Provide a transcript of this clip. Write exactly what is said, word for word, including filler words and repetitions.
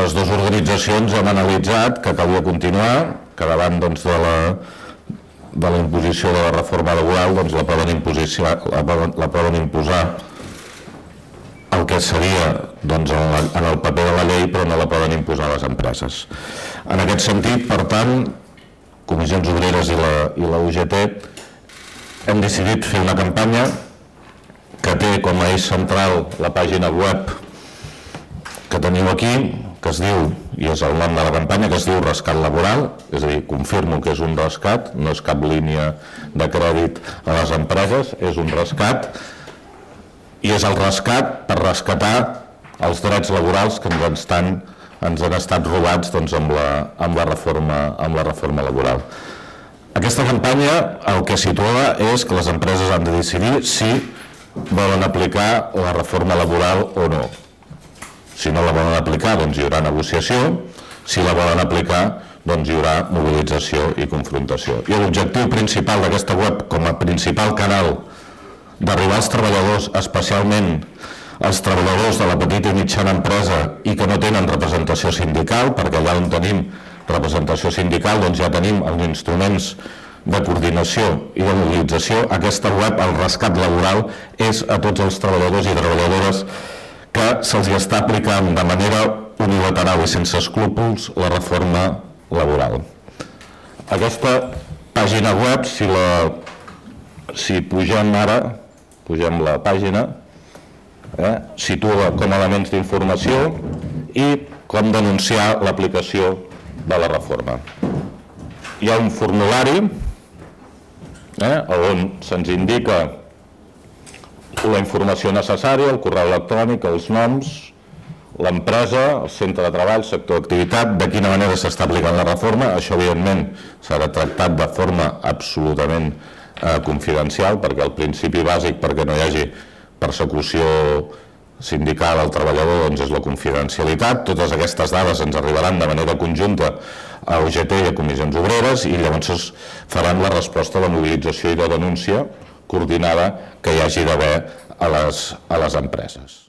les dues organitzacions hem analitzat que calia continuar, que davant de la de la imposició de la reforma laboral la poden imposar el que seria en el paper de la llei, però no la poden imposar les empreses. En aquest sentit, per tant, Comissions Obreres i la U G T hem decidit fer una campanya que té com a eix central la pàgina web que teniu aquí, que es diu, i és el nom de la campanya, que es diu Rescat Laboral, és a dir, confirmo que és un rescat, no és cap línia de crèdit a les empreses, és un rescat, i és el rescat per rescatar els drets laborals que ens han estat robats amb la reforma laboral. Aquesta campanya el que situa és que les empreses han de decidir si volen aplicar la reforma laboral o no. Si no la volen aplicar, doncs hi haurà negociació. Si la volen aplicar, doncs hi haurà mobilització i confrontació. I l'objectiu principal d'aquesta web, com a principal canal d'arribar als treballadors, especialment als treballadors de la petita i mitjana empresa i que no tenen representació sindical, perquè allà on tenim representació sindical doncs ja tenim els instruments de coordinació i de mobilització. Aquesta web, el rescat laboral, és a tots els treballadors i treballadores que se'ls està aplicant de manera unilateral i sense escrúpols la reforma laboral. Aquesta pàgina web, si pugem ara, pugem la pàgina, situa com a elements d'informació i com denunciar l'aplicació de la reforma. Hi ha un formulari on se'ns indica la informació necessària, el correu electrònic, els noms, l'empresa, el centre de treball, sector d'activitat, de quina manera s'està aplicant la reforma. Això, evidentment, serà tractat de forma absolutament confidencial, perquè el principi bàsic perquè no hi hagi persecució sindical al treballador és la confidencialitat. Totes aquestes dades ens arribaran de manera conjunta a U G T i a Comissions Obreres i llavors es faran la resposta a la mobilització i de denúncia coordinada que hi hagi d'haver a les empreses.